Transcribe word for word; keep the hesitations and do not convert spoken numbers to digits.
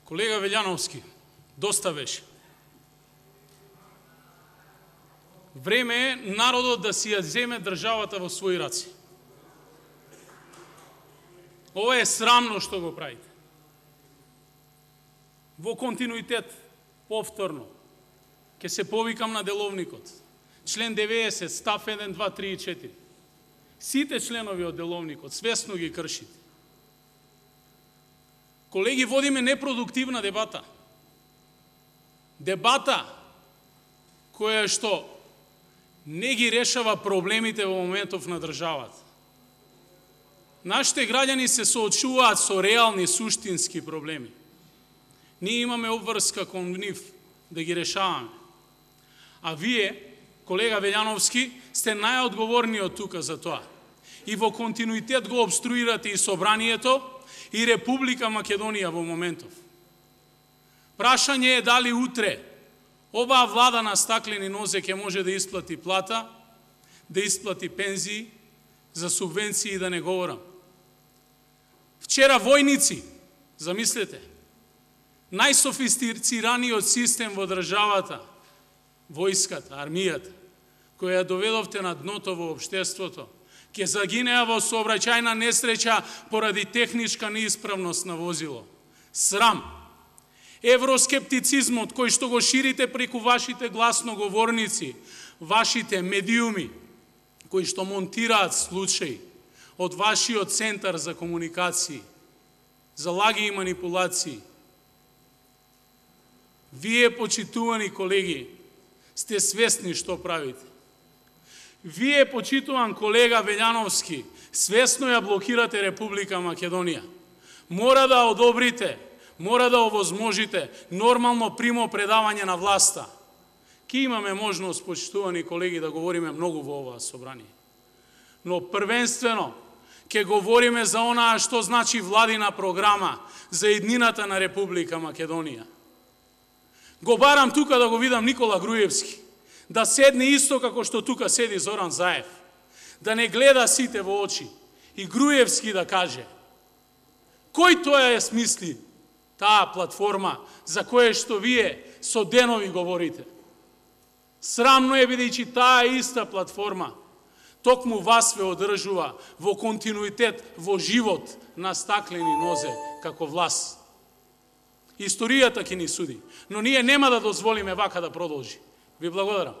Колега Велјановски, доста беше. Време е народот да си ја земе државата во своји раци. Ова е срамно што го правите. Во континуитет, повторно, ќе се повикам на деловникот. Член деветдесет, став еден, два, три и четири. Сите членови од деловникот свесно ги кршите. Колеги, водиме непродуктивна дебата. Дебата која што не ги решава проблемите во моментов на државата. Нашите граѓани се соочуваат со реални, суштински проблеми. Ние имаме обврска кон нив да ги решаваме. А вие, колега Велјановски, сте најодговорниот тука за тоа. И во континуитет го обструирате и собранието, и Република Македонија во моментов. Прашање е дали утре оваа влада на стаклени нозе ќе може да исплати плата, да исплати пензии, за субвенции да не говорам. Вчера војници, замислете, најсофистицираниот систем во државата, војската, армијата, која ја доведовте на дното во општеството, ќе загинеа во сообраќајна несреќа поради техничка неисправност на возило. Срам! Евроскептицизмот кој што го ширите преку вашите гласноговорници, вашите медиуми, кои што монтираат случаи од вашиот центар за комуникации, за лаги и манипулации. Вие, почитувани колеги, сте свесни што правите. Вие, почитуван колега Велјановски, свесно ја блокирате Република Македонија. Мора да одобрите, мора да овозможите нормално примо предавање на власта. Ки имаме можност, почитувани колеги, да говориме многу во оваа собрание. Но првенствено ќе говориме за онаа што значи владина програма за еднината на Република Македонија. Го барам тука да го видам Никола Груевски, да седне исто како што тука седи Зоран Заев, да не гледа сите во очи и Груевски да каже кој тоа е смисли таа платформа за која што вие со денови говорите. Срамно е бидејќи таа иста платформа токму вас ве одржува во континуитет, во живот на стаклени нозе како власт. Историјата ќе ни суди, но ние нема да дозволиме вака да продолжи. Ви благодарам.